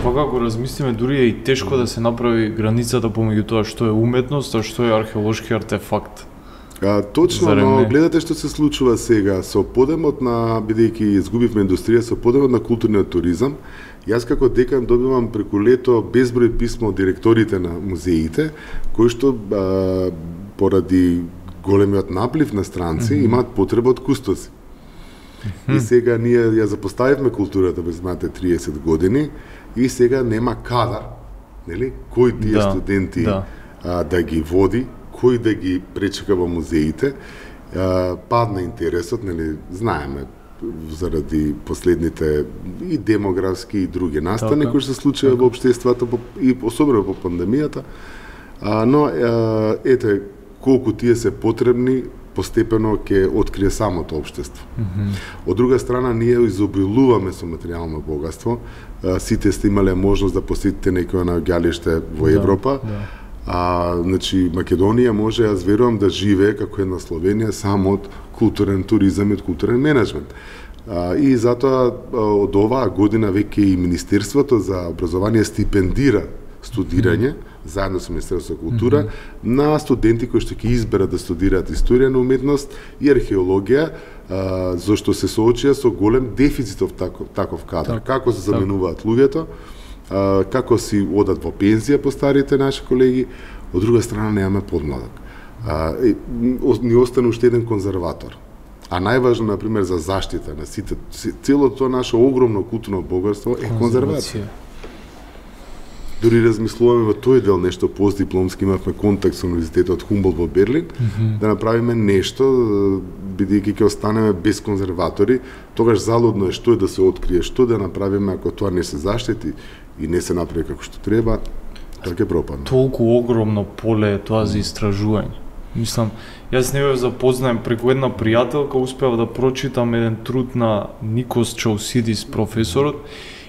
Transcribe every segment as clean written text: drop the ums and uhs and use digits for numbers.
Вака ако размислиме, дури е и тешко да се направи границата помеѓу тоа што е уметност, а што е археолошки артефакт. Точно, но гледате што се случува сега со подемот на, бидејќи изгубивме индустрија, со подемот на културниот туризам. Јас како декан добивам преку лето безброј писма од директорите на музеите, кои што поради големиот наплив на странци имаат потреба од кустоси. И сега ние ја запоставивме културата без мате 30 години и сега нема кадар, нели? Кој тие студенти да ги води, кој да ги пречека во музеите, падна интересот, нели, знаеме, заради последните и демографски и други настани кои се случија во општеството и особено во пандемијата, но ете колку тие се потребни постепено ќе открие самото општество. Од друга страна, ние изобилуваме со материјално богатство. Сите сте имале можност да посетите некој наоѓалиште во Европа. Значи, Македонија може, јас верувам, да живее како една Словенија само од културен туризам и од културен менеджмент. И затоа од оваа година веќе и Министерството за образование стипендира студирање, заедно со Министерството за култура, на студенти кои што ќе изберат да студираат историја на уметност и археологија, зашто се соочија со голем дефицит од таков кадар. Како се заменуваат луѓето, како си одат во пензија по старите наши колеги, од друга страна немаме подмладок. Ни остана уште еден конзерватор. А најважно, например, за заштита на сите, целото тоа наше огромно културно богатство е конзервација. Дури размислуваме во тој дел нешто постдипломски, имавме контакт со Универзитетот Хумболт во Берлин, да направиме нешто, бидејќи ќе останеме без конзерватори, тогаш залудно е што е да се открие, што да направиме ако тоа не се заштити и не се направи како што треба, така ќе пропадне. Толку огромно поле е тоа за истражување. Мислам, јас не бев запознаем преку една пријателка, успеав да прочитам еден труд на Никос Чаусидис, професорот,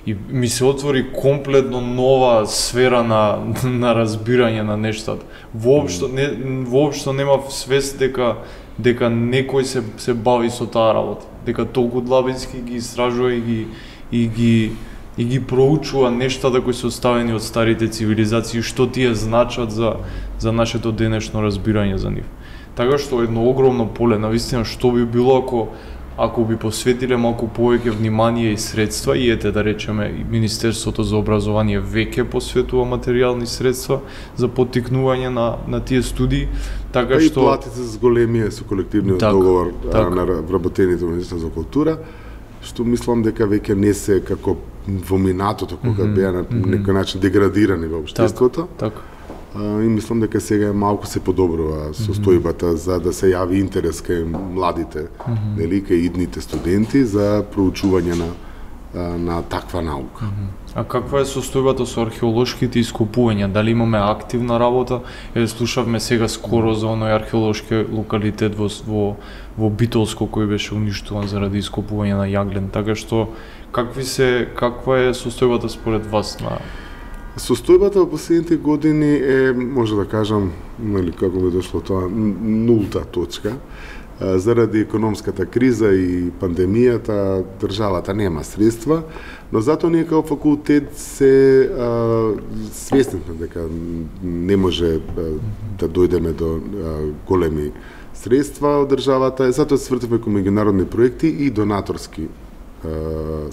и ми се отвори комплетно нова сфера на разбирање на нештата. Воопшто немав свест дека некој се бави со таа работа, дека толку длабински ги истражува и ги проучува нештата кои се оставени од старите цивилизации, што тие значат за нашето денешно разбирање за нив. Така што едно огромно поле, навистина, што би било ако би посветиле малку повеќе внимание и средства, и ете да речеме Министерството за образование веќе посветува материјални средства за поттикнување на тие студии, така што и платите за големија со колективниот договор на вработените во Министерството за култура, што мислам дека веќе не се како во минатото кога беа на некој начин деградирани во општеството. Така. И мислам дека сега малку се подобрува состојбата за да се јави интерес кај младите, нели, кај идните студенти за проучување на таква наука. А каква е состојбата со археолошките ископувања? Дали имаме активна работа? Слушавме сега скоро за оној археолошки локалитет во Битолско кој беше уништуван заради ископување на јаглен. Така што каква е состојбата според вас на Состојбата во последните години е, може да кажам, нели, како би дошло тоа, нулта точка. Заради економската криза и пандемијата, државата нема средства, но затоа ние како факултет се свесни дека не може да дојдеме до големи средства од државата, затоа се свртиме кон меѓународни проекти и донаторски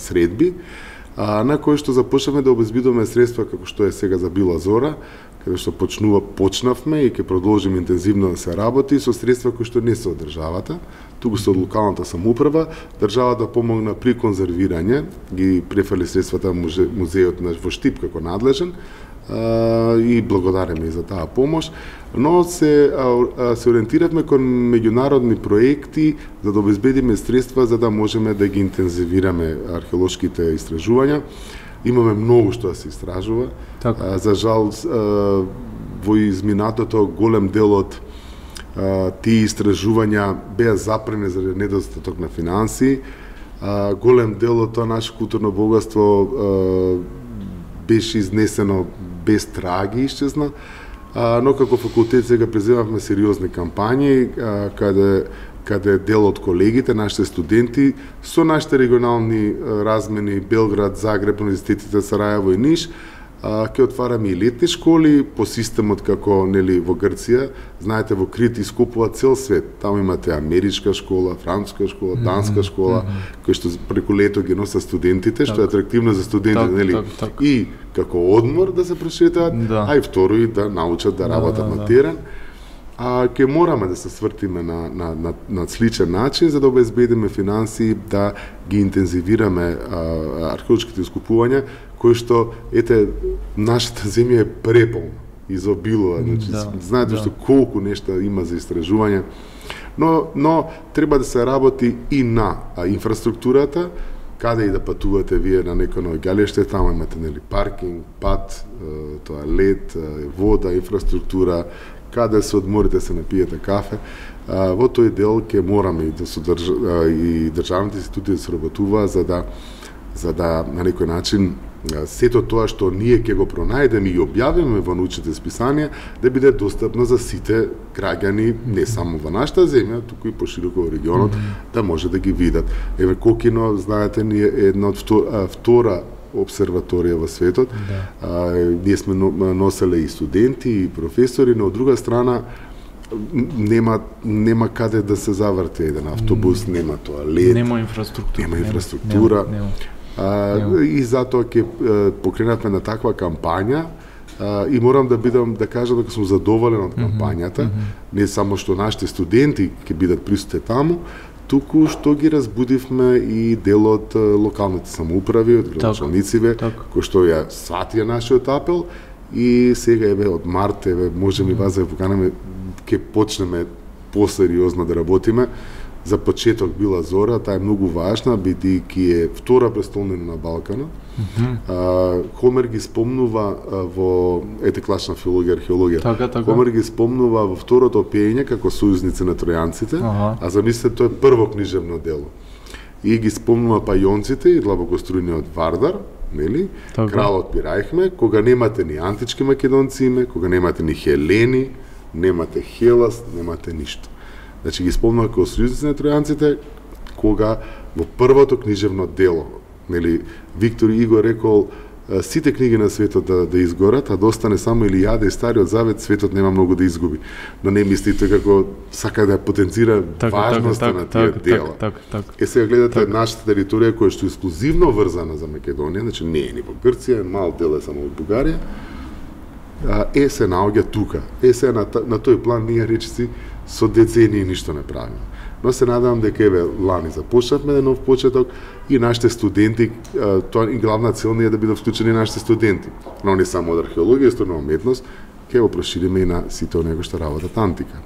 средби, на кој што започнавме да обезбедуваме средства како што е сега за Била Зора, каде што почнавме и ќе продолжиме интензивно да се работи со средства кои што не се од државата, туку се од локалната самоуправа. Државата помогна при конзервирање, ги префали средствата музејот во Штип како надлежен, и благодариме за таа помош, но се ориентиравме кон меѓународни проекти за да обезбедиме средства за да можеме да ги интензивираме археолошките истражувања. Имаме многу што да се истражува. За жал, во изминатото голем дел од тие истражувања беа запрени заради недостаток на финансии. Голем дел од тоа наше културно богатство беше изнесено без траги, исчезна, но како факултет сега преземавме сериозни кампањи, каде каде дел од колегите, нашите студенти, со нашите регионални размени Белград, Загреб, универзитетите Сараево и Ниш, ќе отвараме и летни школи по системот како нели во Грција. Знаете, во Крит искупува цел свет. Таму имате америчка школа, француска школа, данска школа, кои што преку лето ги носат студентите, што е атрактивно за студентите, нели? И како одмор да се прошетаат, а и второ и да научат да работат на терен. Ќе мораме да се свртиме на сличен начин за да обезбедиме финансии, да ги интензивираме археолошките искупувања, кои што, ете, нашата земја е преполна, изобилува, значи, знаете што колку нешта има за истражување, но треба да се работи и на инфраструктурата, каде и да патувате вие на некој наоѓалиште, таму имате нели паркинг, пат, тоалет, вода, инфраструктура, каде се одморите, се напиете кафе. Во тој дел ќе мораме и државните институции да се работува за да на некој начин сето тоа што ние ќе го пронајдеме и објавиме во научните списанија да биде достапно за сите граѓани, не само во нашата земја, туку и пошироко во регионот, да може да ги видат. Еве Кокино, знаете, ни е една од втора обсерваторија во светот. Ние сме носеле и студенти, и професори, но од друга страна нема каде да се заврти еден автобус, нема тоалет, нема инфраструктура. И затоа ќе покренатме на таква кампања и морам да кажам дека сум задоволен од кампањата, не само што нашите студенти ќе бидат присутни таму, туку што ги разбудивме и дел од локалните самоуправи, од градоначалниците, кои што ја сватија нашиот апел и сега еве од март можеме и вас да поканеме, ќе почнеме посериозно да работиме. За почеток била Зора, таа е многу важна, бидејќи е втора престолнина на Балканот. Хомер ги спомнува во класна филологија, археологија. Хомер ги спомнува во второто опење како сојузници на тројанците, а замислете тоа е прво книжевно дело. И ги спомнува пајонците и длабокострујниот Вардар, нели? Кралот Пирајхме, кога немате ни антички македонци име, кога немате ни Хелени, немате Хелас, немате ништо. Значи ги спомнува како сојузници на тројанците, кога во првото книжевно дело, нели, Виктор Иго рекол сите книги на светот да изгорат, а да остане само Илијада и Стариот Завет, светот нема многу да изгуби. Но не мислите како сака да потенцира важноста на тие дела. Сега гледате нашата територија која што е ексклузивно врзана за Македонија, значи не е ни во Грција, мал дел е само од Бугарија, се наоѓа тука. Сега на тој план ние речиси со децении ништо не правиме. Но се надевам дека еве лани започнавме еден нов почеток и нашите студенти, тоа и главна цел е да бидат вклучени нашите студенти, но не само од археологија, историја, уметност, ќе го прошириме и на сите оние кои што работат антика.